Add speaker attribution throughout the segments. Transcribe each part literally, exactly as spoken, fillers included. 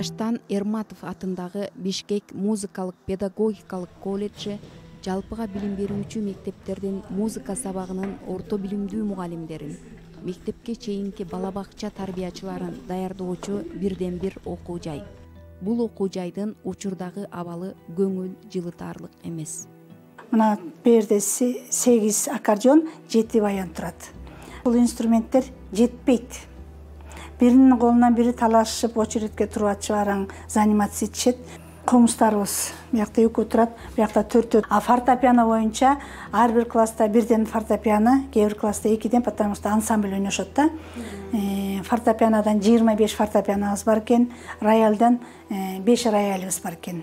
Speaker 1: Таштан Эрматов атындагы Бишкек музыкалык педагогикалык колледжи жалпыга билим берүүчү мектептердин музыка сабагынын орто билимдүү мугалимдерин, мектепке чейинки бала бакча тарбиячыларын даярдоочу бирден бир окуу жай. Бул окуу жайдын учурдагы абалы көңүл жылытарлык эмес.
Speaker 2: Мына берде сегиз аккордеон, жети баян турат. Бул инструменттер жетпейт. Биринин колунан бири талашып, очередке туруп атышып араң занимация ичет. Комустарыбыз биякта экөө турат, биякта төртөө. А фортепиано боюнча ар бир класста бирден фортепиано, кээ бир класста экиден, потому что ансамбль ойношот да. Фортепианодан жыйырма беш фортепианобуз бар экен, роялдан беш роялыбыз бар экен.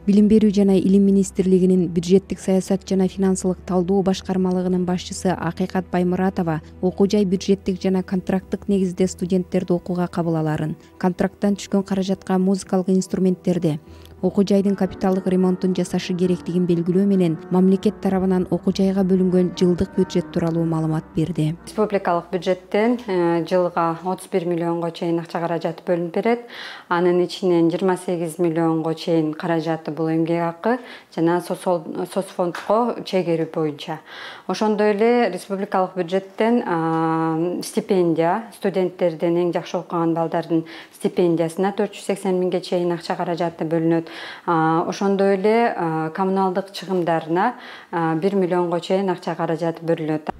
Speaker 1: Билим берүү жана илим министрлигинин бюджеттик саясат жана финансылык талдоо башкармалыгынын башчысы Акыйкат Баймуратова окуу жай бюджеттик жана контракттык негизде студенттерди окууга кабыл аларын, контракттан түшкөн каражатка музыкалык инструменттерди, окуу жайдын капиталдык ремонтун жасашы керектигин белгилөө менен мамлекет тарабынан окуу жайга бөлүнгөн жылдык бюджет тууралуу маалымат берди.
Speaker 3: Республикалык бюджеттен жылга отуз бир миллионго чейин акча каражаты бөлүнүп берет. Анын ичинен жыйырма сегиз миллионго чейин каражаты бул эмгек акы жана соцфондко чегерүү боюнча. Ошондой эле республикалык бюджеттен стипендия, студенттердин эң жакшы окуган балдардын стипендиясына төрт жүз сексен миңге чейин акча каражаты бөлүнөт. Ошондой эле коммуналдык чыгымдарына бир миллионго чейин акча каражаты бөлүнөт.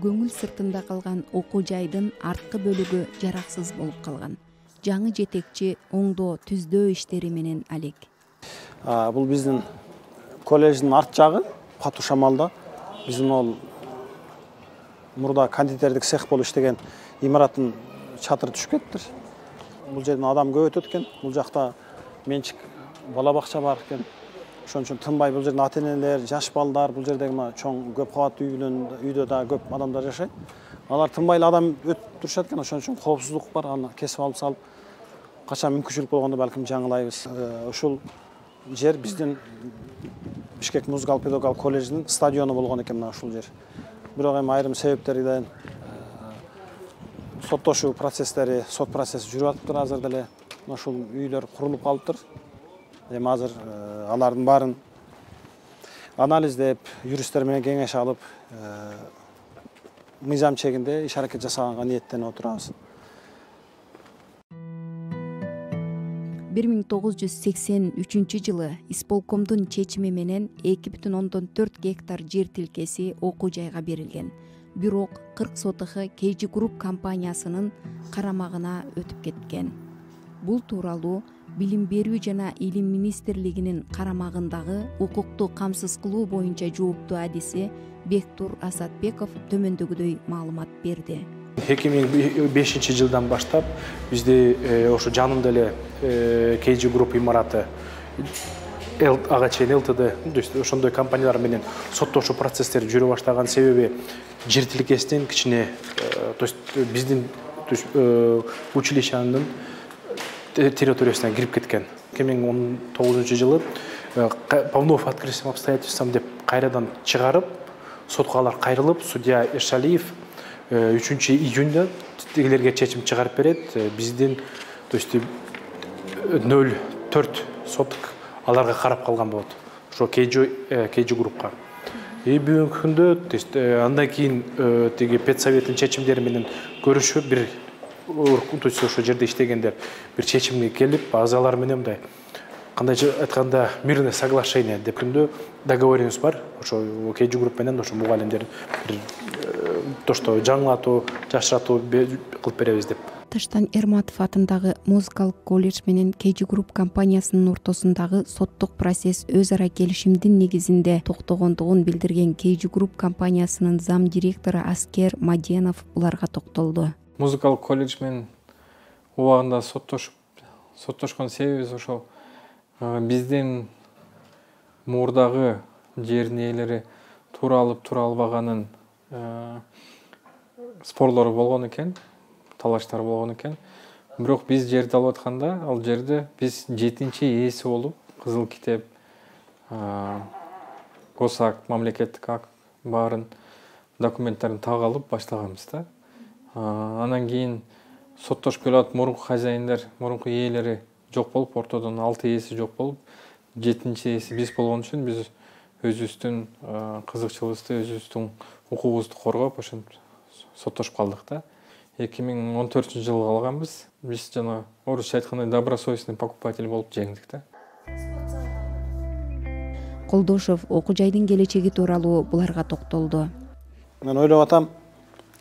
Speaker 1: Көңүл сыртында калган окуу жайдын арткы бөлүгү жараксыз болуп калган. Жаңы жетекчи оңдоо, түздөө иштери менен алек.
Speaker 4: Бул биздин колледждин арт жагы, Пату Шамалда. Биздин ол мурда кондитердик цех болуп иштеген имараттын чатыры түшүп кетиптир. Бул жерден адам көп өтөт экен. Бул жакта менчик бала бакча бар экен. Ошон үчүн тынбай бул жерден ата-энелер, жаш балдар, бул жердеги мына чоң көп кабаттуу үйдөн үйдө да көп адамдар жашайт. Алар тынбай эле адам өтүп турушат экен. Ошон үчүн коопсуздук бар. Аны кесип алып салып, качан мүмкүнчүлүк болгондо балким жаңылайбыз. Ушул жер биздин Бишкек музыкалык педагогикалык колледжинин стадиону болгон экен мына ушул жер. Бирок эми айрым себептерден соттошуу процесстери, сот процесси жүрүп атыптыр азыр деле. Ушул үйлөр курулуп калыптыр. Эми азыр алардын баарын анализдеп, юристтер менен кеңеш алып, мыйзам чегинде иш аракет жасаганга ниеттенип отурабыз.
Speaker 1: бир миң тогуз жүз сексен үчүнчү жылы исполкомдун чечими менен эки бүтүн ондон төрт гектар жер тилкеси окуу жайга берилген. Бирок кырк сотых кей джи Group компаниясынын карамагына өтүп кеткен. Бул тууралуу Билим берүү жана илим министрлигинин карамагындагы укукту камсыз кылуу боюнча жооптуу адиси Бектур Асатбеков төмөндөгүдөй маалымат берди.
Speaker 5: эки миң бешинчи жылдан баштап бизде ошо жанында эле кей джи Group имараты ага чейин эл тэ дэ, ошондой компаниялар менен соттошуу процесстери жүрө баштаган себеби жер тилкесинин кичине, то есть биздин училищенин территориясына кирип кеткен. эки миң он тогузунчу жылы по вновь открытым обстоятельствам деп кайрадан чыгарып, сотко алар кайрылып, судья Эшалиев үчүнчү июнда тигилерге чечим чыгарып берет. Биздин, то есть нөл төрт соток аларга карап калган болот. Ошо кей джи Group'ка. И бүгүнкү күндө, то есть андан кийин тиги педсоветтин чечимдери менен көрүшүп, бир то есть ошо жерде иштегендер бир чечимге келип, азалар менен мындай кандайча айтканда мирное соглашение деп күндө договорубуз бар. Ошо кей джи Group менен ошо мугалимдер бир то что жаңылатуу, жашыратуу кылып беребиз деп.
Speaker 1: Таштан Эрматов атындагы музыкалык колледж менен кей джи Group компаниясынын ортосундагы соттук процесс өз ара келишимдин негизинде токтогондугун билдирген кей джи Group компаниясынын зам директору Аскер Маденов буларга токтолду.
Speaker 6: Музыкалык колледж менен убагында соттошуп, соттошкон себебибиз ошол биздин мурдагы жердин ээлери туура алып тура албаганын спорлор болгон экен, талаштар болгон экен. Бирок биз жерди алып атканда, ал жерде биз жетинчи ээси болуп, Кызыл китеп, госакт, мамлекеттик акт баарын документтерин так алып баштаганбыз да. Анан кийин соттошуп келип мурунку хозяиндер, мурунку ээлери жок болуп, ортодон алты ээси жок болуп, жетинчи ээси биз болгон үчүн биз өзүбүздүн кызыкчылыгыбызды, өзүбүздүн укугубузду коргоп, ошентип соттошуп калдык да. эки миң он төртүнчү жылы калганбыз. Биз жана орусча айткандай добросовестный покупатель болуп жеңдик да.
Speaker 1: Колдошов окуу жайдын келечеги тууралуу буларга токтолду.
Speaker 4: Мен ойлоп атам,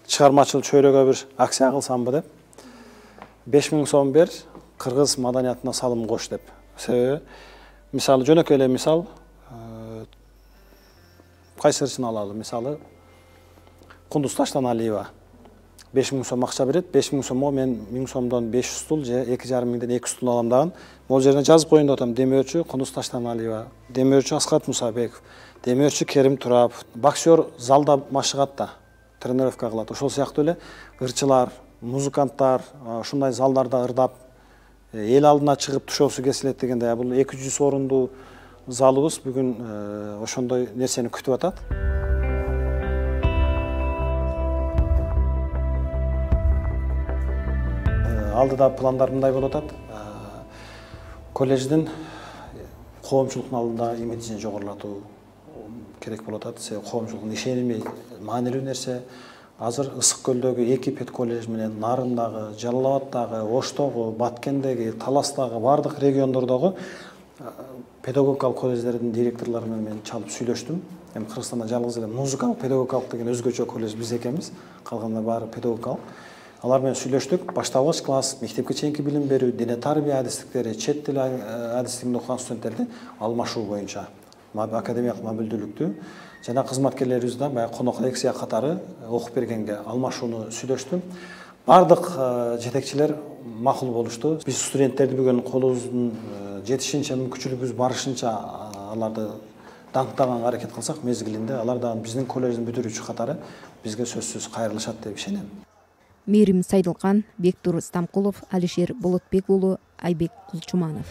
Speaker 4: чыгармачыл чөйрөгө бир акция кылсамбы деп. беш миң сом бер, кыргыз маданиятына салым кош деп. Себеби, мисалы жөнөкөй эле мисал, кайсырысын алалы, мисалы Кундуз Таштан Алиева беш миң сом акча берет, беш миң сомго мен миң сомдон беш жүз стул же эки жарым миңден эки стул алам даган. Могул жерине жазып коеюн деп атам. Демөөрчү Кундуз Таштан Алиева, демөөрчү Аскат Мусабеков, демөөрчү Керим Турапов, боксер залда машыгат да, тренировка кылат. Ошол сыяктуу эле ырчылар, музыканттар ушундай залдарда ырдап, эл алдына чыгып тушоосу кесилет дегенде, бул эки жүз орундуу залыбыз бүгүн ошондой нерсени күтүп атат. Алдыда пландар мындай болуп атат. Колледждин коомчулуктун алдында имиджин жогорулатуу керек болуп атат. Себеби коомчулуктун ишеними маанилүү нерсе. Азыр Ысык көлдөгү эки педколледж менен Нарындагы, Жалал Абаддагы, Оштогу, Баткендеги, Таластагы, бардык региондордогу педагогикалык колледждердин директорлору менен мен чалып сүйлөштүм. Эми Кыргызстанда жалгыз эле музыкалык педагогикалык деген өзгөчө колледж биз экенбиз. Калгандар баары педагогикалык. Алар менен сүйлөштүк. Башталгыч класс, мектепке чейинки билим берүү, дине тарбия адистиктери, чет тил адистигинде окуган студенттерди алмашуу боюнча академиялык мобилдүүлүктү жана кызматкерлерибиз да баягы конок лекция катары окуп бергенге алмашууну сүйлөштүм. Бардык жетекчилер макул болушту. Биз студенттерди бүгүн колубуздун жетишинче, мүмкүнчүлүгүбүз барышынча аларды даңктаганга аракет кылсак, мезгилинде алар да биздин колледждин бүтүрүүчү катары бизге сөзсүз кайрылышат деп ишенем.
Speaker 1: Мээрим Сайдылкан, Бектур Стамкулов, Алишер Болотбек уулу, Айбек Кулчуманов.